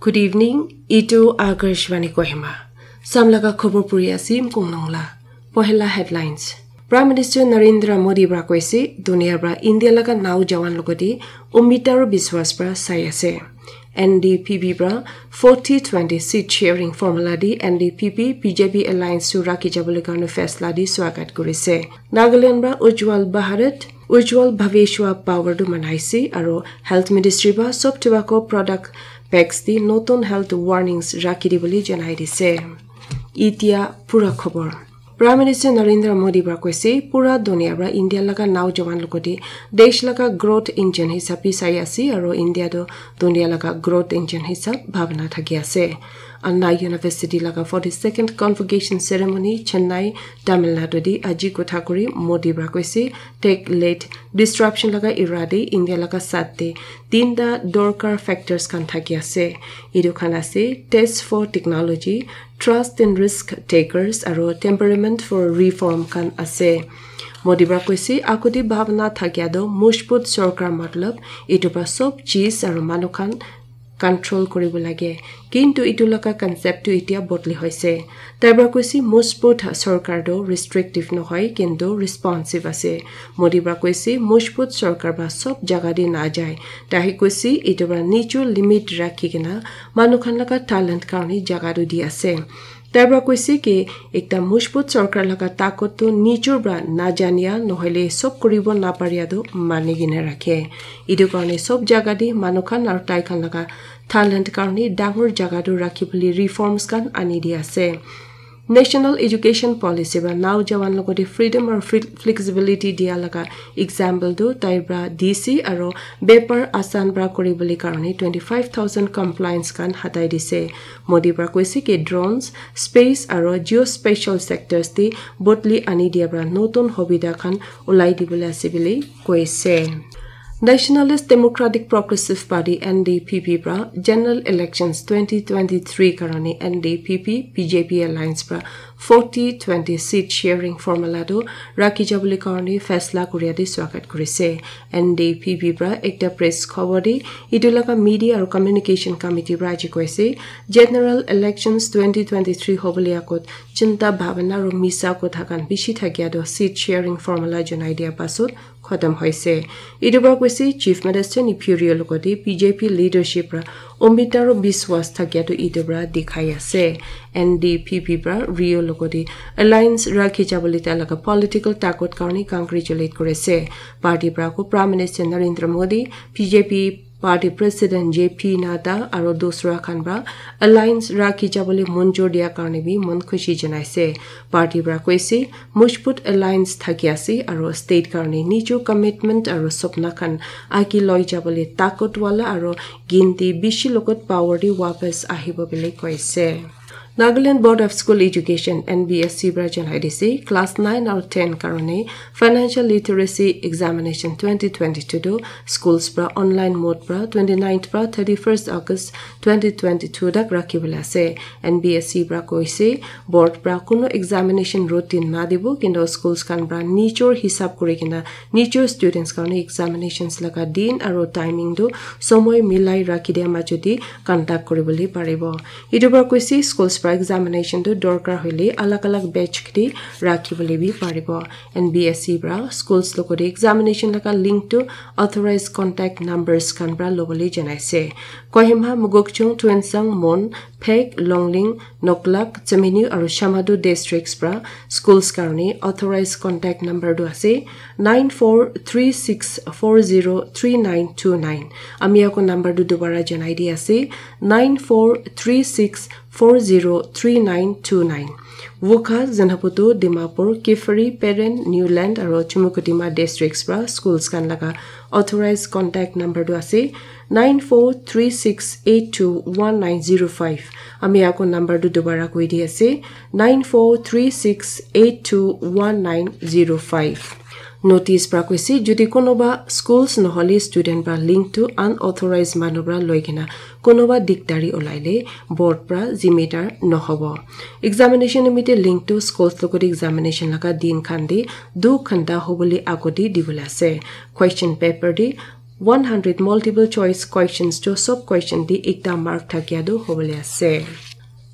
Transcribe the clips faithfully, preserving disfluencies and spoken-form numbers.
Good evening, itu Akashvani Kohima. Samlaga khobor puri asim kong nongla. Pohela headlines. Prime Minister Narendra Modi pra koise, dunia pra India laga nau jawan logoti umid aru biswas pra sai ase. N D P P pra forty twenty seat sharing formula di N D P P B J P alliance tu rakhi jabole karne faisla di swagat kurise. Nagaland pra Ujjwal Bharat, Ujjwal Bhavishya Power tu manaise aru Health Ministry pra sob tobacco product packs di notun health warnings rakhi dibole janai dise. Itia pura khobor. Prime Minister Narendra Modi pra koise, pura dunia pra India laga nau jawan logoti desh laga growth engine hisabi sai ase aru India tu dunia laga growth engine hisab bhabna thaki ase. Anna University laga forty-second convocation ceremony Chennai, Tamil Nadu di aji kotha kuri Modi pra koise, tech led disruption laga era de India laga sat de tinta dorkar factors khan thaki ase. Etu khan ase test for technology, trust in risk takers, aru temperament for reform khan ase. Modi pra koise, agoti bhabna thakia toh mojbut sorkar matlab etu pra sob cheez aru manu khan control kuribo lage. Kintu etu laga concept tu itia bodli hoise. Tai pra koise, mojbut sorkar tu restrictive nohoi, kintu responsive ase. Modi pra koise, mojbut sorkar pra sob jaga de najai. Tai koise, etu pra nijor limit rakhi kena manu khan laga talent karne jaga tu di ase. Tai pra koise ki ekta mojbut sorkar laga takot tu nijor pra najania nohoile sob kuribo naparia tu mani kena rakhe. Etu karne sob jaga de manu khan aru tai khan laga talent karne dangor jaga tu rakhi bole reforms khan ani di ase. National Education Policy pra nau jawan logoti freedom aru fle-, flexibility dia laga example tu tai pra D C aru bepar asan pra kuri bole karne twenty-five thousand compliance khan hatai dise. Modi pra koise ki drones, space aru geospatial sectors te bodli ani dia pra notun hobida khan ulai dibole ase bole koise. Nationalist Democratic Progressive Party, N D P P pra general elections twenty twenty-three karone N D P P B J P alliance pra forty twenty seat sharing formula tu rakhi jabole karone faisla kuria de swagat kurise. N D P P pra ekta press khobor de etu laga media aru communication committee pra aji koise, general elections twenty twenty-three hobole agot chinta bhabana aru misa kotha khan bishi thakia tu seat sharing formula janai dia pasot khotom hoise. Etu pra koise Chief Minister Neiphiu Rio logoti B J P leadership pra umid aru biswas thakia tu etu pra dikhai ase. N D P P pra Rio logoti alliance rakhi jabole tai laga political takot karne congratulate kurise. Party pra ko Prime Minister Narendra Modi, B J P party president J P Nadda aru dusra khan pra alliance rakhi jabole monjur dia karne bi mon khushi janaise. Party pra koise mojbut alliance thaki ase aru state karne nijor commitment aru sopna khan age loi jabole takot wala aru ginti bishi logot power de wapas ahibo bole koise. Nagaland Board of School Education, N B S E pra janai dise, class nine aru ten karone Financial Literacy Examination twenty twenty-two tu schools pra online mode pra twenty-ninth pra thirty-first August twenty twenty-two tak rakhi bole ase. N B S E pra koise, board pra kuno examination routine na dibo, kintu schools khan pra nijor hisab kuri kena nijor students karone examinations laga din aru timing tu somoi milai rakhi dia majot de conduct kuri bole paribo. Etu pra koise schools pra examination tu dorkar hoile alag alag batch de rakhi bole bi paribo. N B S E pra schools logoti examination laga link tu authorized contact numbers khan pra lobole janaise. Kohima, Mokokchung, Tuensang, Mon, Phek, Longleng, Noklak, Chemenu aru Shamator districts pra schools karone authorized contact number tu ase nine four three six four zero three nine two nine. Ami ako number tu dobara janai di ase nine four three six four zero three nine two nine. Wokha, Zunheboto, Dimapur, Kiphire, Peren, Niuland aru Chumukedima districts pra schools khan laga authorized contact number tu ase nine four three six eight two one nine zero five. Ami ako number tu dobara koi di ase nine four three six eight two one nine zero five. Notice pra koise, jodi kunuba schools nohole student pra link tu unauthorized manu pra loi kena kunuba dikdari olaile board pra zimedar nohobo. Examination nimite link tu schools logoti examination laga din khan de du ghanta hobole agoti dibole ase. Question paper de One hundred multiple choice questions to sob question te ekta mark thakia tu hobole ase.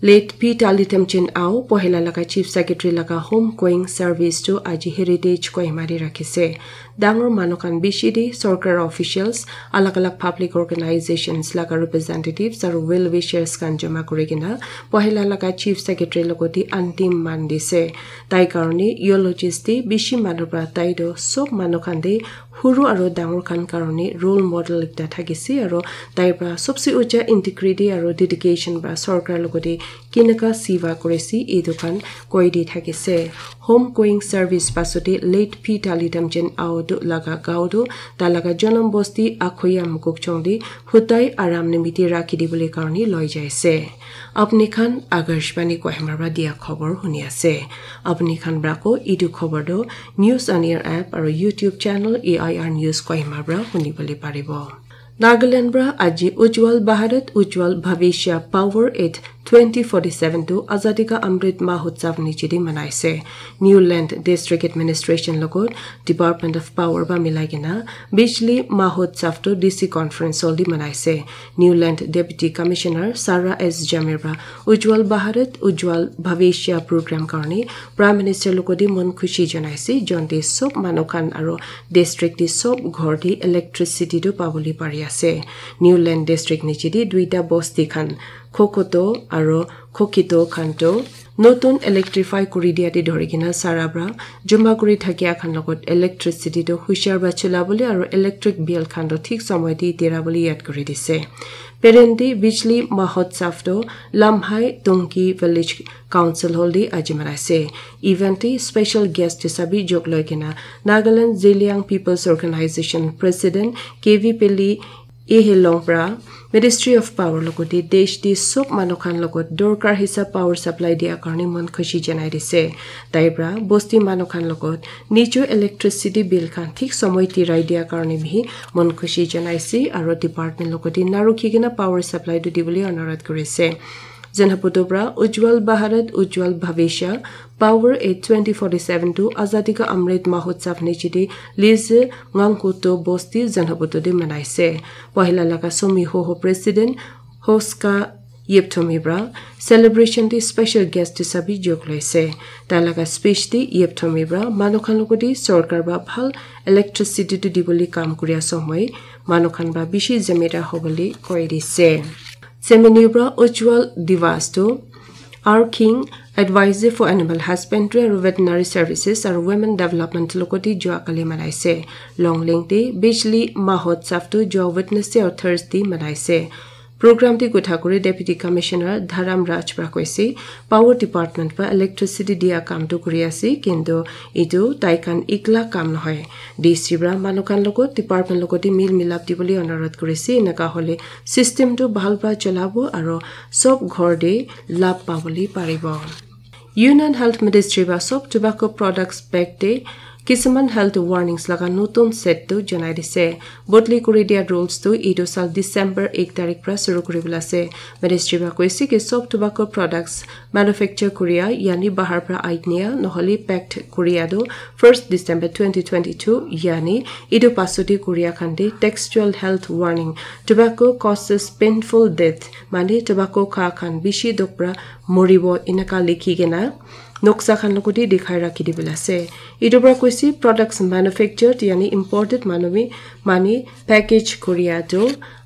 Late P Talitam Chin Ao, pohela laga Chief Secretary laga homegoing service tu aji Heritage Kohima te rakhise. Dangor manu khan bishi te sorkar officials, alag alag public organizations laga representatives aru well wishers khan jama kuri kena pohela laga Chief Secretary logote antim man dise. Tai karone eulogist te bishi manu pra tai toh sob manu khan te huru aru dangor khan karone role model ekta thakise aru tai pra sobse ucha integrity aru dedication pra sorkar logote kinaka siva kurise etu khan koi di thakise. Homegoing service pasote late P Talitam Chin Ao tu laga gao tu tai laga janam bosti Akhoya Mukokchung te hutai aram nimiti rakhi dibole karone loi jaise. Apni khan Akashvani Kohima pra dia khobor huni ase. Apni khan pra ko etu khobor tu News on Air app aru YouTube channel A I R News Kohima pra huni bole paribo. Nagaland pra aji Ujjwal Bharat Ujjwal Bhavishya Power at twenty forty-seven tu Azadi Ka Amrit Mahotsav niche te manaise. Newland District Administration logot Department of Power pra milai kena Bijli Mahotsav tu D C Conference Hall te manaise. Newland Deputy Commissioner Sarah S Jamir pra Ujjwal Bharat Ujjwal Bhavishya program karone Prime Minister logote mon khushi janaise, jonte sob manu khan aru district te sob ghor te electricity tu pabole pari ase. Newland District niche te duita bosti khan Khokoto aru Khokito khan tu notun electrify kuri dia te dhori kena sara pra joma kuri thakia khan logot electricity tu hushar pra chula bole aru electric bill khan tu thik somoy te dira bole yad kuri dise. Perendi Bijli Mahotsav tu Lamhai Tongki Village Council Hall te aji manaise. Event te special guest hisabe jok loi kena Nagaland Zeliang People's Organization President K V Peli Ehelong pra Ministry of Power logote desh te sob manu khan logot dorkar hisab power supply dia karone mon khushi janai dise. Tai pra bosti manu khan logot nijo electricity bill khan thik somoy tirai dia karone bhi mon khushi janaise aru department logote narukhi kena power supply tu dibole onurodh kurise. Zenhabutu pra Ujjwal Bharat Ujjwal Bhavishya Power at twenty forty-seven tu Azadi Ka Amrit Mahotsav niche te Lize Ngangkuto Bosti Zenhabutu te manaise. Pohela laga Somi Hoho President Hoska Yepthomi pra celebration te special guest hisabe jok loise. Tai laga speech te Yepthomi pra manu khan logote sorkar pra bhal electricity tu dibole kam kuri ase moi manu khan pra bishi zimedar hobole koi dise. Semeni pra Ujjwal Divas tu R King, Advisor for Animal Husbandry aru Veterinary Services aru Women Development logote jua kali manaise. Longleng te Bijli Mahotsav tu jua Wednesday aru Thursday manaise. Program te kotha kuri Deputy Commissioner Dharam Raj pra koise, Power Department pra electricity dia kam tu kuri ase, kintu etu tai khan ekla kam nohoi. D C pra manu khan logot department logote mil milap dibole onurodh kurise, enaka hole system tu bhal pra cholabo aru sob ghor te labh pabole paribo. Union Health Ministry pra sob tobacco products bag te kisuman health warnings laga notun set tu janai dise. Bodli kuri dia rules tu etu sal December ek tarik pra shuru kuri bole ase. Ministry pra koise ki sob tobacco products manufacture kuria yani bahar pra ainiya nohole packed kuria tu first December twenty twenty-two yani etu pasodi kuria khan te textual health warning, tobacco causes painful death, mane tobacco kha khan bishi dukh pra moribo enaka likhi kena noksa khan logote dikhai rakhi dibole ase. Etu pra koise products manufactured yani imported manu bi mane package kuria tu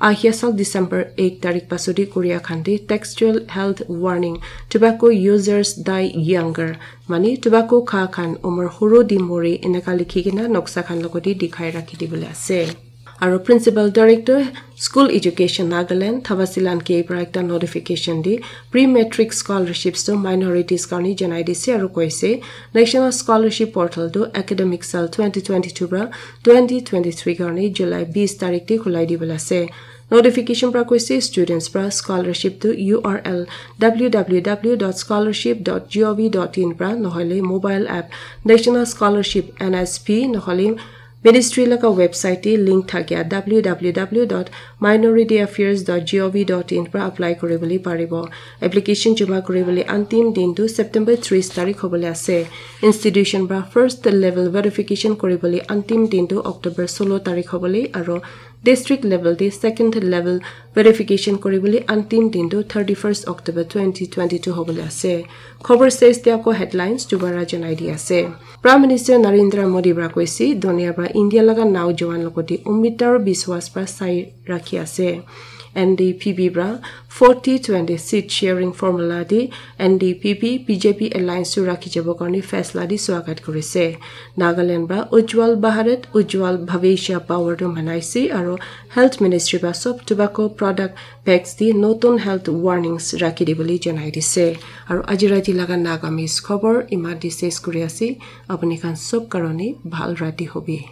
ahia sal December ek tarik pasodi kuria khan te textual health warning, tobacco users die younger, mane tobacco kha khan umar huru di mori enaka likhi kena noksa khan logote dikhai rakhi dibole ase. Aru Principal Director School Education Nagaland Thabasilan K pra ekta notification di pre-matric scholarships tu minorities karne janai dise aru koise National Scholarship Portal tu academic sal twenty twenty-two pra twenty twenty-three karne July bis tarik te khulai dibole ase. Notification pra koise students pra scholarship tu U R L W W W dot scholarship dot gov dot in pra nohole mobile app National Scholarship N S P nohole Ministry laga website te link thakia W W W dot minority affairs dot gov dot in pra apply kuri bole paribo. Application joma kuri bole antim din tu September tris tarik hobole ase. Institution pra first level verification kuri bole antim din tu October solo tarik hobole aru District level te second level verification kori bole antim din tu thirty-first October twenty twenty-two hobole ase. Khobor ses te ako headlines dubara janai di ase. Prime Minister Narendra Modi para koise, dunia para India laga naujowan logote umid aru biswas para sai rakhi ase. N D P P para forty twenty seat sharing formula di N D P P B J P alliance tu rakhi jabo karne faisla di swagat korise. Nagaland para Ujjwal Bharat, Ujjwal Bhavishya Power tu manaise aru Health Ministry para sob tobacco product packs di notun health warnings rakhi di bole janai dise. Aru aji rati laga Nagamese khobor iman di ses kuri ase. Apuni khan sob karone bhal rati hobi.